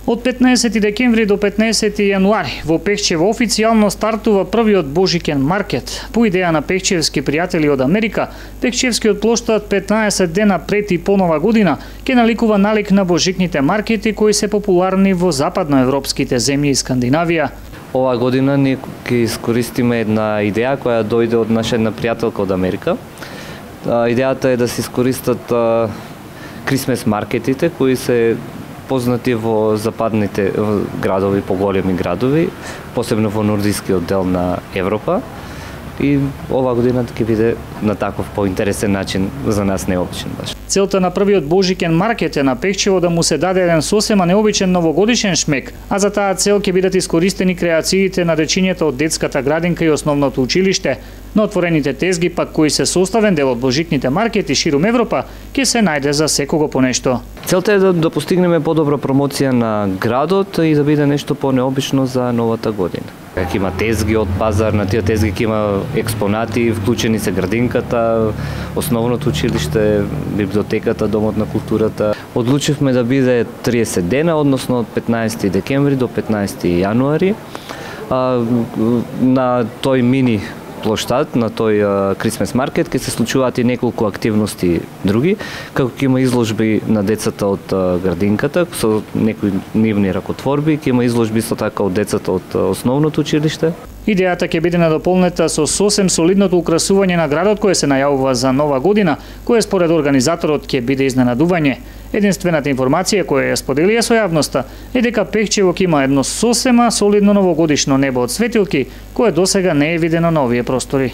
Од 15 декември до 15 јануари во Пехчево официјално стартува првиот Божикен маркет. По идеја на пехчевски пријатели од Америка, Пехчевскиот плоштад 15 дена пред и по Нова година ќе наликува налик на божикните маркети кои се популарни во западноевропските земји и Скандинавија. Ова година ние ќе искористиме една идеја која дојде од наша една пријателка од Америка. Идејата е да се искористат Крисмес маркетите кои се познати во западните градови, поголеми градови, посебно во нордискиот дел на Европа. И ова година ќе биде на таков поинтересен начин, за нас необичен баш. Целта на првиот Божикен маркет е на Пехчево да му се даде еден сосема необичен новогодишен шмек, а за таа цел ќе бидат искористени креациите на дечињата од детската градинка и основното училиште. На отворените тезги пак кои се составен дел од божикните маркети ширум Европа, ќе се најде за секого по нешто. Целта е да постигнеме подобра промоција на градот и да биде нешто понеобично за новата година. Ќе има тезги од пазар, на тие тезги ќе има експонати, вклучени се градинката, основното училиште, библиотеката, домот на културата. Одлучивме да биде 30 дена, односно од 15 декември до 15 јануари. На тој мини плоштад, на тој Крисмес маркет ќе се случуваат и неколку активности други, како ќе има изложби на децата од градинката со некои нивни ракотворби, ќе има изложби со така од децата од основното училиште. Идејата ќе биде надополнета со сосем солидното украсување на градот кое се најавува за Нова година, кое според организаторот ќе биде изненадување. Единствената информација која ја споделија со јавноста е дека Пехчево ќе има едно сосема солидно новогодишно небо од светилки, кое досега не е видено на овие простори.